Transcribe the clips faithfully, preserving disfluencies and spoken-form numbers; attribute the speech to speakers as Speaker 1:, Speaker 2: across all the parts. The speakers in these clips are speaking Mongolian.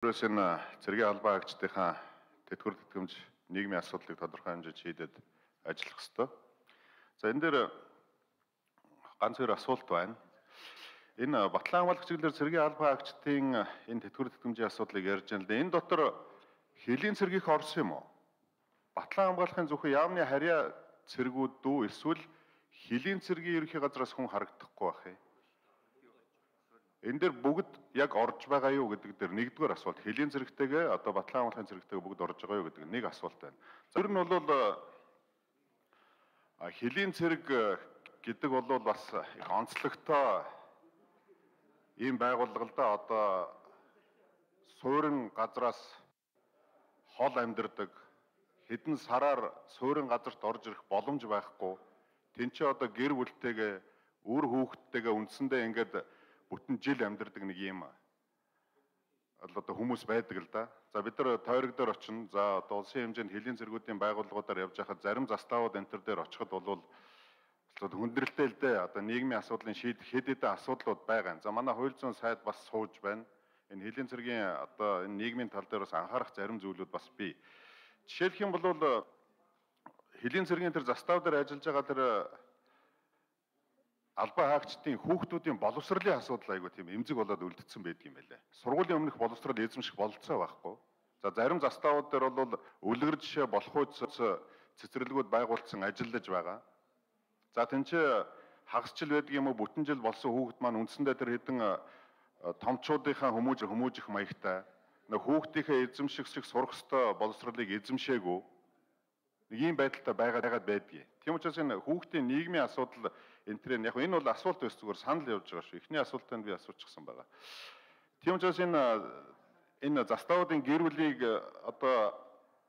Speaker 1: Өөрөөс энэ цэргийн албан хаагчдынхаа тэтгэвэр тэтгэмж нийгмийн асуудлыг тодорхой хэмжээнд шийдээд ажиллах ёстой. За энэ дээр ганц хоёр асуулт байна. Энэ Батлан хамгаалах чиглэлээр цэргийн албан хаагчдын энэ тэтгэвэр тэтгэмжийн асуудлыг ярьж байна л да. Энэ дотор хөлийн цэргийнх орсон юм уу? Батлан хамгаалахын зөвхөн яамны харьяа цэргүүд дүү эсвэл хөлийн цэргийн ерөнхий газраас хүн харагдахгүй байх юм. Энэ дээр бүгд яг орж байгаа юу гэдэг дээр нэгдүгээр асуулт. Хөлийн цэрэгтэйгээ одоо Батлан хамгаалахын цэрэгтэйгээ бүгд орж байгаа юу гэдэг нэг асуулт байна. За ер нь бол хөлийн цэрэг гэдэг бол бас их онцлогтой ийм байгууллага л да. Одоо суурин газраас хол амьдардаг, хэдэн сараар суурин газарт орж ирэх боломж байхгүй. Тэнцээ одоо гэр бүлтэйгээ, үр хүүхдтэйгээ үндсэндээ ингээд бүтэн жил амьдардаг нэг юм одоо хүмүүс байдаг л да. За бид нар тойрог дээр очино. За одоо улсын хэмжээнд хөлийн цэргүүдийн байгууллагуудаар явж байхад зарим заставууд энэ төр дээр очиход бол хүндрэлтэй л дээ. Одоо нийгмийн асуудлын шийдэх хэд хэдэн асуудлууд байгаа. За манай хууль зүйн сайд бас сууж байна. Энэ хөлийн цэргийн одоо энэ нийгмийн тал дээр бас анхаарах зарим зүйлүүд бас бий. Жишээлх юм бол хөлийн цэргийн тэр застав дээр ажиллаж байгаа тэр албан хаагчдын хүүхдүүдийн боловсролын асуудал айгүй тийм эмзэг болоод үлдсэн байдаг юм байлаа. Сургуулийн өмнөх боловсрол эзэмших бололцоо байхгүй. За зарим заставууд дээр бол үлгэр жишээ болох үс цэцэрлэгүүд байгуулсан ажиллаж байгаа. За тэнцээ хагас жил байдаг юм уу бүтэн жил болсон хүүхэд маань үндсэндээ тэр хэдэн томчуудынхаа хүмүүж хүмүүжих маягтай нэг хүүхдийнхээ эзэмших шиг сурах ёстой боловсролыг эзэмшээгүй нэг ийм байдалтай байгаад байдгийг. Тийм учраас энэ хүүхдийн нийгмийн асуудал энэ төр яг энэ бол асуулт биш зүгээр санал явж байгаа шүү. Эхний асуултанд би асуучихсан байгаа. Тийм учраас энэ энэ заставуудын гэр бүлийг одоо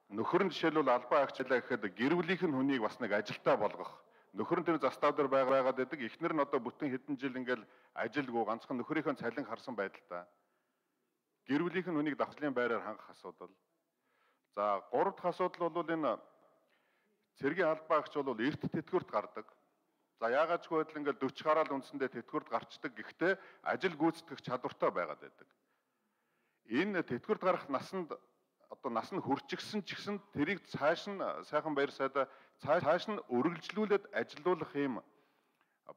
Speaker 1: нөхөр нь жишээлбэл албан хаагчлаа гэхэд гэр бүлийнх нь хүнийг бас нэг ажилтаа болгох. Нөхөр нь тэр застав дээр байгаад байдаг. Эхнэр нь одоо бүтэн хэдэн жил ингээл ажилгүй ганцхан нөхрийнхөө цалин харсан байдалтай. Гэр бүлийнх нь хүнийг давхлын байраар хангах асуудал. За гурав дахь асуудал бол энэ цэргийн албан хаагч бол эрт тэтгэврт гардаг. За яагаад ч гэвэл ингээл дөрвөн гараал үндсэндээ тэтгэврт гарчдаг. Гэхдээ ажил гүйцэтгэх чадвартай байгаад байдаг. Энэ тэтгэврт гарах насанд одоо нас нь хүрчихсэн ч гэсэн тэрийг цааш нь сайхан баяр сайдаа цааш нь өргөлжлүүлээд ажилуулах юм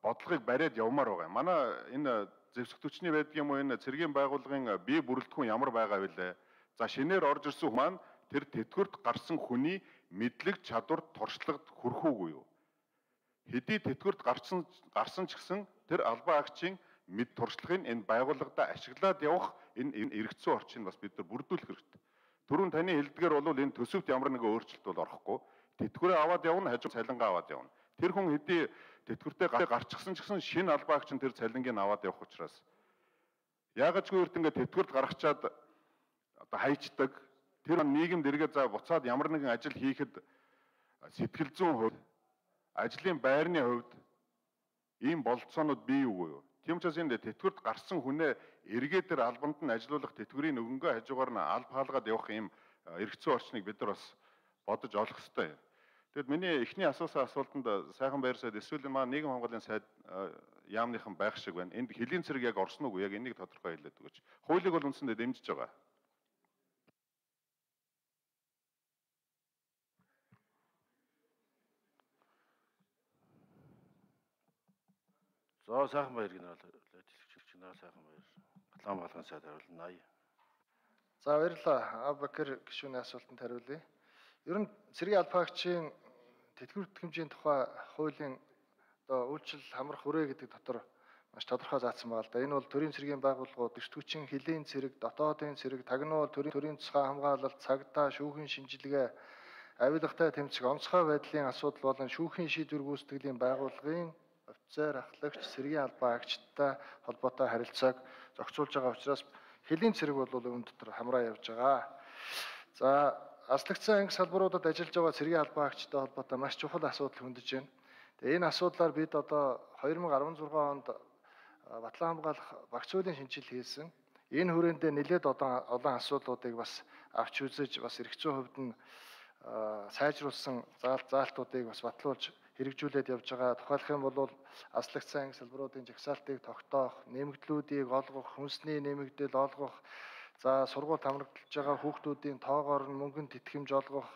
Speaker 1: бодлогыг бариад явмаар байгаа юм. Манай энэ зэвсэг түвшний байдаг юм уу энэ цэргийн байгууллагын бие бүрэлдэхүүн ямар байгаа вэ? За шинээр орж ирсэн хүмүүс маань тэр тэтгэврт гарсан хүний мэдлэг чадвар туршлагад хүрхүүгүй юу? Хэдий тэтгэврт гарсан гарсан ч гэсэн тэр албан хаагчийн мэд туршлагыг энэ байгууллагада ашиглаад явах энэ эргэцүү орчийг бас бид нар бүрдүүлэх хэрэгтэй. Түрүүн таны хэлдгээр бол энэ төсөвт ямар нэгэн өөрчлөлт бол орохгүй. Тэтгэврээ аваад явна, хажуу цалингаа аваад явна. Тэр хүн хэдий тэтгэвртээ гарчихсан ч гэсэн шинэ албан хаагч нь тэр цалингийг аваад явах учраас яагаад ч гүрт ингээд тэтгэврт гаргачаад одоо хайчдаг. Тэр нийгэмд эргээд за буцаад ямар нэгэн ажил хийхэд сэтгэл зүйн хувьд, ажлын байрны хувьд ийм бололцоонууд бий юу? Тийм учраас энэ тэтгэврт гарсан хүнээ эргээд тэр албанд нь ажилуулах тэтгэврийн өгөнгөө хажуугаар нь алба хаалгаад явах ийм эргэцүү орчныг бид нар бас бодож олох хэрэгтэй. Тэгэд миний эхний асуусан асуултанд сайхан баяр сайд эсвэл маань нийгэм хамгааллын сайд яамныхан байх шиг байна. Энд хөлийн цэрэг яг орсон уу? Яг энийг тодорхой хэлээд өгөөч. Хуулийг бол үндсэндээ дэмжиж байгаа.
Speaker 2: За сайхан баяр генерал дэлгэцч генерал сайхан баяр. Батлан хамгаалахын сайд хариулна.
Speaker 3: За баярлалаа. Абакер гишүүний асуултанд хариулъя. Ер нь цэргийн албан хаагчийн тэтгэвэр тэтгэмжийн тухай хуулийн одоо үйлчлэл хамрах хүрээ гэдэг дотор маш тодорхой заасан байна л да. Энэ бол төрийн цэргийн байгууллагууд, дэвтгүүчийн хөлийн цэрэг, дотоодын цэрэг, тагнуул, төрийн төрийн тусгай хамгаалалт, цагдаа, шүүхийн шинжилгээ, авилгатай тэмцэх, онцгой байдлын асуудал болон шүүхийн шийдвэр гүйцэтгэлийн байгууллагын офицер, ахлагч, цэргийн албан хаагчтай холбоотой харилцааг зохицуулж байгаа учраас хөлийн цэрэг бол үүн дотор хамраа явж байгаа. За аслагдсан анги салбаруудад ажиллаж байгаа цэргийн албан хаагчтай холбоотой маш чухал асуудал хөндөж байна. Тэгээ энэ асуудлаар бид одоо хоёр мың арван зургаан онд Батлан хамгаалах багц хуулийн шинжил хийсэн. Энэ хүрээндээ нэлээд одоо олон асуудлуудыг бас авч үзэж бас эрхцүү хувьд нь сайжруулсан заалт заалтуудыг бас батлуулж хэрэгжүүлээд явж байгаа. Тухайлх юм бол аслагдсан анги салбаруудын жагсаалтыг тогтоох, нэмэгдлүүдийг олгох, хүнсний нэмэгдэл олгох, За сургууль хамрагдаж байгаа хүүхдүүдийн тоогоор нь мөнгөнд тэтгэмж олгох,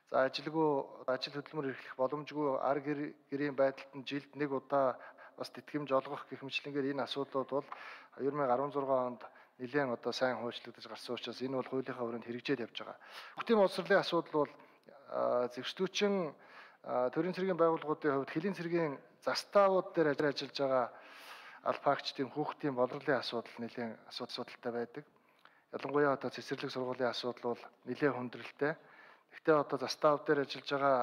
Speaker 3: за ажилгүй ажил хөдөлмөр эрхлэх боломжгүй ар гэрийн байдалд нь жилд нэг удаа бас тэтгэмж олгох гэх мэтлэнгээр энэ асуудлууд бол две тысячи дөрвөн онд нэлээд одоо сайн хуучлагдаж гарсан учраас энэ бол хуулийнхаа хүрээнд хэрэгжээд явж байгаа. Хүүхдийн боловсролын асуудал бол зэгцлүүчин төрийн цэргийн байгууллагуудын хувьд хэлийн цэргийн заставууд дээр ажиллаж байгаа албаагчдын хүүхдийн боловсролын асуудал нэлээд асуудалтай байдаг. Ялангуяа одоо цэцэрлэг сургуулийн асуудал бол нэлээд хүндрэлтэй. Гэхдээ одоо застав дээр ажиллаж байгаа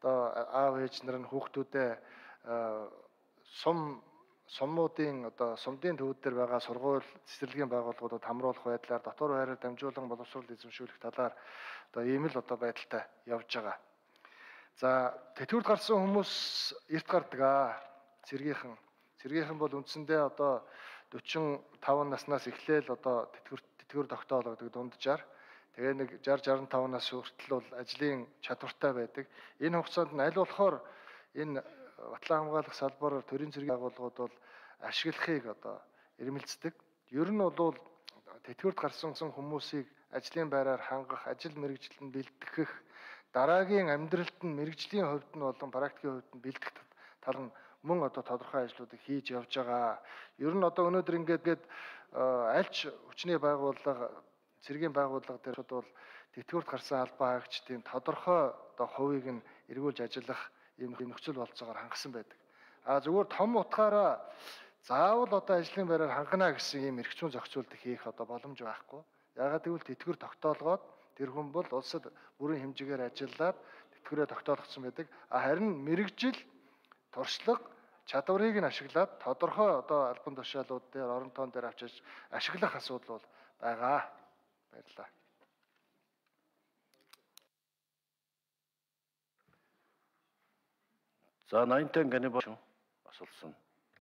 Speaker 3: одоо аав ээж нар нь хүүхдүүдээ сум суммуудын одоо сумдын төвд дээр байгаа сургууль цэцэрлэгийн байгууллагуудад хамруулах байдлаар дотор байраар дамжуулан боловсрол эзэмшүүлэх талаар одоо ийм л одоо байдалтай явж байгаа. За тэтгэврт гарсан хүмүүс эрт гардаг аа цэргийнхэн. Цэргийнхэн бол үндсэндээ одоо дөрвөн таван наснаас эхлээл одоо тэтгэврт тэтгэвэр тогтоологдог дунджаар. Тэгээ нэг шарж шаран таван нас хүртэл бол ажлын чадвартай байдаг. Энэ хугацаанд нь аль болохоор энэ батлан хамгаалах салбараар төрийн цэргийн байгууллагууд бол ашиглахыг одоо ирмэлцдэг. Ер нь бол тэтгэврт гарсан хүмүүсийг ажлын байраар хангах, ажил мэргэжилтэнд бэлтгэх, дараагийн амьдралд нь мэргэжлийн хувьд нь болон практикийн хувьд нь бэлтгэх тал нь мөн одоо тодорхой ажлуудыг хийж явж байгаа. Ер нь одоо өнөөдөр ингээд альч хүчний байгууллага, цэргийн байгууллага дээр бол тэтгэврт гарсан албан хаагчдын тодорхой одоо хувийг нь эргүүлж ажиллах ийм нөхцөл болцоогоор хангасан байдаг. А зүгээр том утгаараа заавал одоо ажлын байраар хангана гэсэн ийм эрх зүйн зохицуулт хийх одоо боломж байхгүй. Яагаад гэвэл тэтгэвэр тогтоолгоод тэр хүн бол улсад бүрэн хэмжээгээр ажиллаад тэтгэврээ тогтоолгосон байдаг. А харин мэрэгжил туршлага чадварыг нь ашиглаад тодорхой одоо албан тушаалууд дээр орон тоон дээр авчиж ашиглах асуудал бол байгаа. Баярлалаа.
Speaker 2: За наймтай гэнэ асуулсан.